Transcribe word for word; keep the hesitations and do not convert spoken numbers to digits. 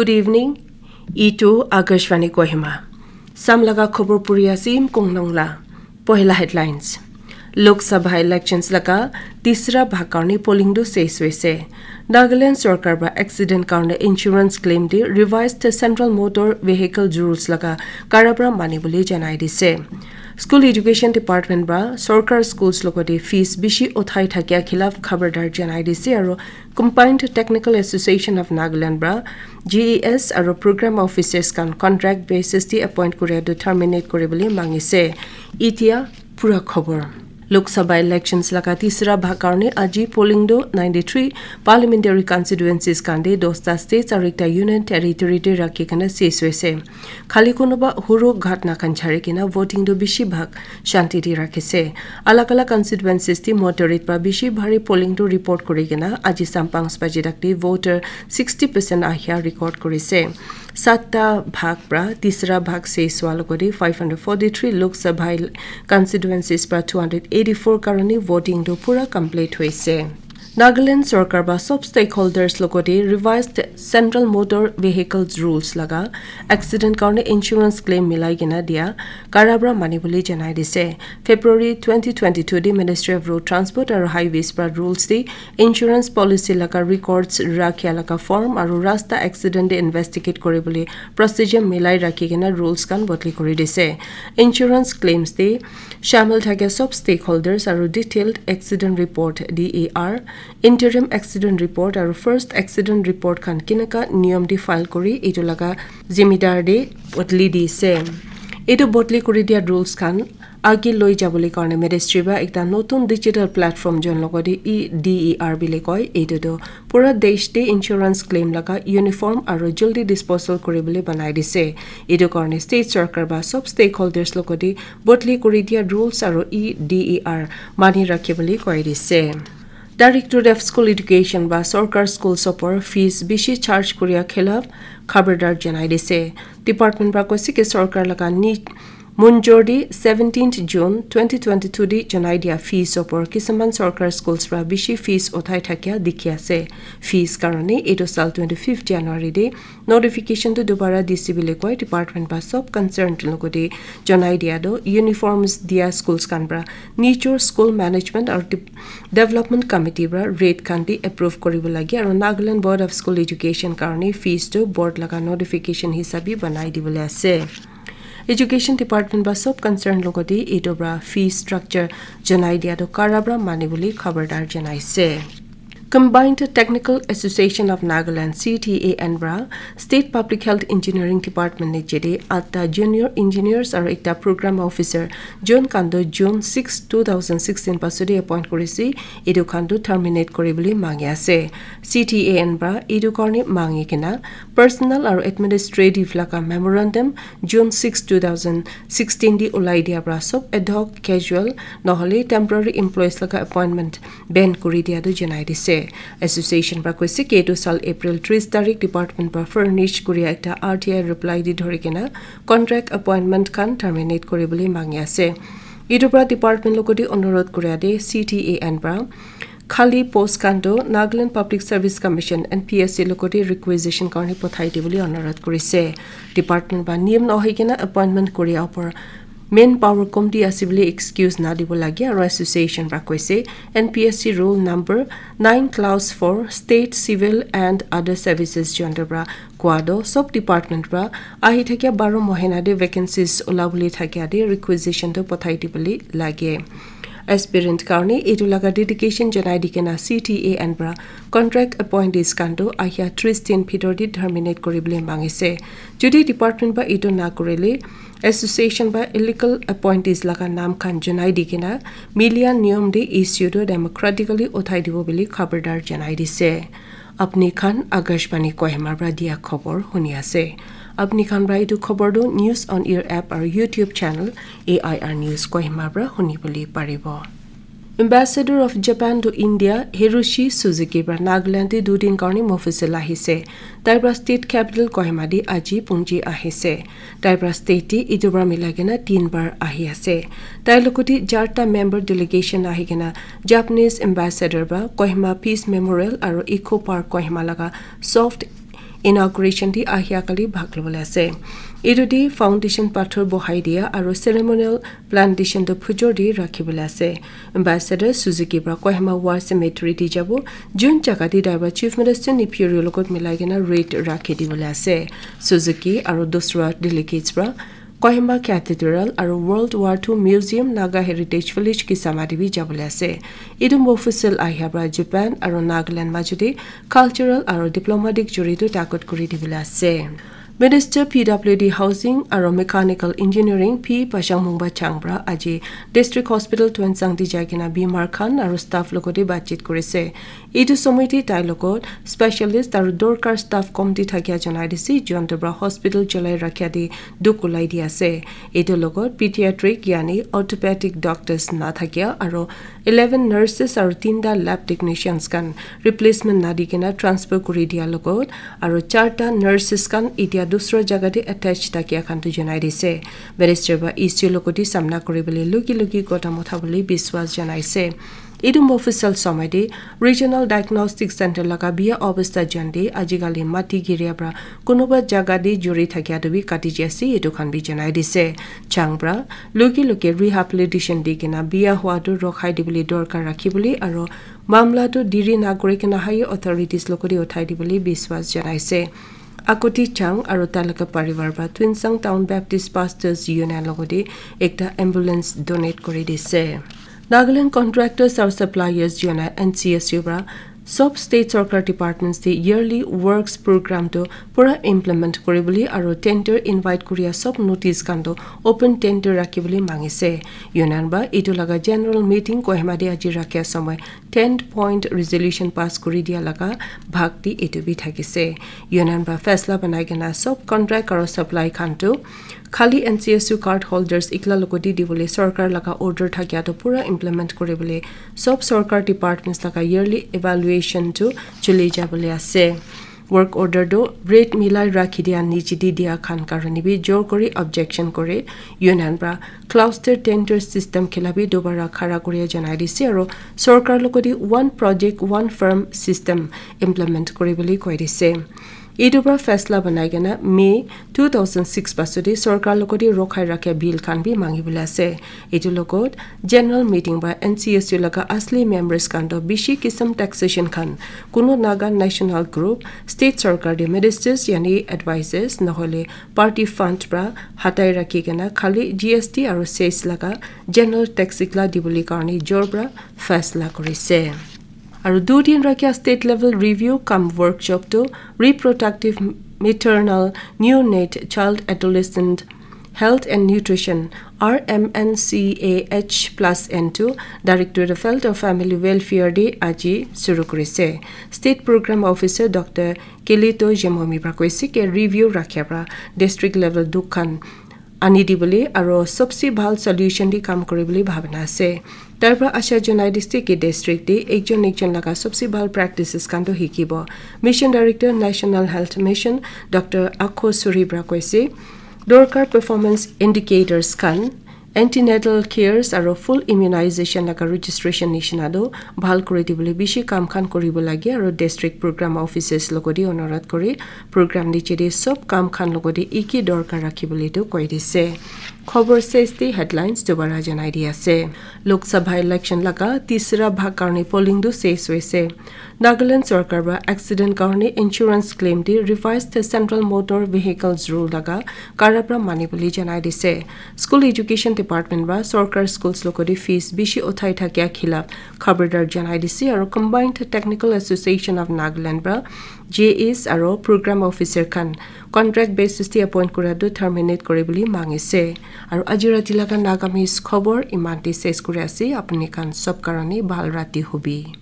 Good evening. Itu Akashvani Kohima. Sam laga khobor puri asim kong nong la. Pohila headlines. Lok Sabha elections laga tisra bhag karni polling do ses hoise. Nagaland sorkar ba accident karni insurance claim di revised Central Motor Vehicle Rules laga karabra mani bole janai dise. School Education Department ba sorkar schools logote fees bishi uthai thakia khilaf khabardar janai dise aro Combined Technical Association of Nagaland ba G E S aro program officers kan contract basis di appoint kuria do terminate kuri bole mangise. Itia pura khobor. Lok Sabha elections laga tisra bhag karni aji polling do ninety-three parliamentary constituencies kan de dosta states aro ekta union territory de rakhi kana ses hoise. Khali kunuba huru ghatna khan chari kena voting do bishi bhag shanti di rakhise. Alag alag constituencies di moderate pra bishi bhari polling do report kuri kena aji sampang spaji dakti voter sixty percent ahia record kurise. Satta bhag pra tisra bhag ses hua logodi five hundred forty-three Lok Sabha constituencies pra two hundred eighty-four karoni voting do pura complete hoise. Nagaland sorkar ba sob stakeholders logodi revised Central Motor Vehicles Rules laga accident karni insurance claim milai kena dia karabra mani bole janai dise. February twenty twenty-two di Ministry of Road Transport aro Highways pra rules di insurance policy laga records rakhia laga form aro rasta accident de investigate kuri bole procedure milai rakhi kena rules kan bodli kuri dise. Insurance claims de shamil thakia sob stakeholders aro detailed accident report D A R, interim accident report aro first accident report khan kinaka niyom di file kuri itu laga zimidar de bodli dise. Itu bodli kuri dia rules khan age loi jabole karne ministry ba ekta notun digital platform jon logodi E D E R bile koi. Itu do pura desh de insurance claim laga uniform aro jaldi disposal kuri bole banai dise. Itu karne state sorkar ba sob stakeholders logodi bodli kuri dia rules aro E D E R mani rakhi bole koi dise. Directorate of School Education ba sorkar school sopor fees bishi charge kuria khilaf khabardar janai dise. Department pra koise ki sorkar laga ni munjor di seventeenth June twenty twenty-two di janai dia fees opor kisaman sorkar schools pra bishi fees uthai thakia dikhi ase. Fees karone etu sal twenty-fifth January di notification tu dubara dise bile koi. Department pra sob concerned logote janai dia tu uniforms dia schools khan pra nijor school management aru de- development committee pra rate khan bi approve kuribo lage aru Nagaland Board of School Education karone fees tu board laga notification hisabi banai dibole ase. Education Department ba sob concern logote etu pra fee structure janai dia tu kara pra mani bole khabardar janai ase. Combined Technical Association of Nagaland, C T A N pra State Public Health Engineering Department ne jede atta junior engineers aru ekta program officer jon khan tu June six, two thousand sixteen pasudi appoint kurise. Etu khan tu terminate kuribole mangi ase. C T A N pra etu karne mangi kena personal aru administrative laga memorandum June six, two thousand sixteen di ulai dia pra sob ad hoc, casual nohole temporary employees laga appointment ban kuri dia tu janai dise. Association pra koise ki etu sal April tris tarik department pra furnish kuria ekta R T I reply di dhori kena contract appointment khan terminate kuribole mangi ase. Etu pra department logote onurodh kuria de C T A N pra khali post khan tu Nagaland Public Service Commission, N P S C logote requisition karne pothai dibole onurodh kurise. Department pra niyam nohoi kena appointment kuria opor main power komti ase bole excuse na dibo lage aru association pra koise N P S C rule number nine clause four state civil and other services jon tu pra koa tu sob department pra ahi thakia baro mohina de vacancies ulabole thakia de requisition tu pothai dibole lage. Aspirant karne etu laga dedication janai di kena C T A N pra contract appointees khan tu ahia tris din bhitor di terminate kuribole mangise. Jodi department pra etu na kurile, association pra illegal appointees laga naam khan janai di kena milia niyom de issue tu democratically uthai dibo bole khabardar janai dise. Apni khan Akashvani Kohima pra dia khobor huni ase. Apni khan pra etu khobor tu News on Air app aru YouTube channel A I R News Kohima pra huni bole paribo. Ambassador of Japan to India, Hiroshi Suzuki pra Nagaland te dudin karne mofusila ahise. Tai pra state capital Kohima te aji punji ahise. Tai pra state te etu pra milai kena tin bar ahi ase. Tai logote jarta member delegation ahi kena Japanese ambassador pra Kohima Peace Memorial aru Eco Park Kohima laga soft Inauguration te ahia kali bhag lobole ase. Etu te foundation pathor bohai dia aru ceremonial plantation tu phujor te rakhi bole ase. Ambassador Suzuki pra Kohima War Cemetery te jabo, jun jaga te tai pra Chief Minister Neiphiu Rio logot milai kena raid rakhi dibole ase. Suzuki aru dusra delegates pra Kohima Cathedral aru World War Two Museum, Naga Heritage Village Kisama te bi jabole ase. Etu mofusal ahia pra Japan aru Nagaland majo te cultural aru diplomatic juri tu takot kuri dibole ase. Minister P W D Housing aru Mechanical Engineering P Pashang Mungba Chang pra aji District Hospital Tuensang te jai kena bimar khan aru staff logote batchit kurise. Etu somoy te tai logot specialist aru dorkar staff komti thakia janai dise, jontu pra hospital cholai rakhia te dukh ulai di ase. Etu logot pediatric yani orthopedic doctors na thakia aru eleven nurses aru tinta lab technicians khan replacement na di kena transfer kuri dia logot aru charta nurses khan etia dusra jaga te attach thakia khan tu janai dise. Minister pra issue logot te samna kuri bole luki luki kodam utha bole biswas janai se. Etu mofusal somoy te Regional Diagnostic Center laga biya obostha jan te ajikali mati giria pra kunuba jaga te juri thakia tu bi kati jai ase, etu khan bi janai dise. Chang pra luki luki rehabilitation di kena biya hua tu rokhai dibole dorkar rakhi bole aru mamla tu diri na kuri kena higher authorities logote uthai dibole biswas janai se. Akuti Chang aru tai laga parivar pra Tuensang Town Baptist Pastors Union logote ekta ambulance donate kuri dise. Nagaland Contractors aru Suppliers Union, N C S U pra sob state sarkar departments te yearly works program tu pura implement kuri bole aru tender invite kuria sob notice khan tu open tender rakhi bole mangise. Union pra etu laga general meeting Kohima te aji rakhia somoy ten point resolution pass kuri dia laga bhag te etu bi thakise. Union pra faisla banai kena sob contract aru supply khan tu khali N C S U card holders ikla logote dibole sarkar laga order thakia tu pura implement kuri bole sob sarkar departments laga yearly evaluation tu chuli jabole ase. Work order tu rate milai rakhi dia niche te dia khan karone bi jor kuri objection kuri Union pra cluster tender system khila bi dobara khara kuri janai dise aru sarkar logote one project one firm system implement kuri bole koi dise. Etu pra faisla banai kena May two thousand six pasu te sarkar logote rokhai rakhia bill khan bi mangi bole ase. Etu logot general meeting pra N C S U laga asli members khan tu bishi kisam taxation khan kunu Naga National Group, state sarkar te ministers yani advisors nohole party fund pra hatai rakhi kena khali G S T aru cess laga general tax ikla dibole karone jor pra faisla kurise. Aru du din rakhia state level review cum workshop tu reproductive maternal neonate child adolescent health and nutrition R M N C A H plus N two Directorate of Health or Family Welfare te aji suru kurise. State Program Officer Doctor Kelito Jemomi pra koise ke review rakhia pra district level dukhan ani dibole aro sobse bhal solution di kam kuribole bhabina ase. Tar pra asha janai dise ki district te ekjon ekjon laga sobse bhal practices khan toh hikibo. Mission Director National Health Mission Doctor Akho Suri pra koise, dorkar performance indicators khan, antenatal cares aro full immunization laga registration nishina toh bhal kuri dibole bishi kam khan kuribo lage aro district program officers logodi onurodh kuri program niche te sob kam khan logodi iki dorkar rakhibole toh koi dise. Khobor ses te headlines dobara janai di ase. Lok Sabha election laga tisra bhag karne polling tu ses hoise. Nagaland sorkar pra accident karne insurance claim te revised Central Motor Vehicles Rule laga kara pra mani bole janai dise. School Education Department pra sorkar schools logodi fees bishi uthai thakia khilaf khabardar janai dise aro Combined Technical Association of Nagaland pra J As aro program officer khan contract basis te appoint kura tu terminate kuribole mangise. Aro aji rati laga Nagamese khobor iman te ses kuri ase. Apni khan sob karone bhal rati hobi.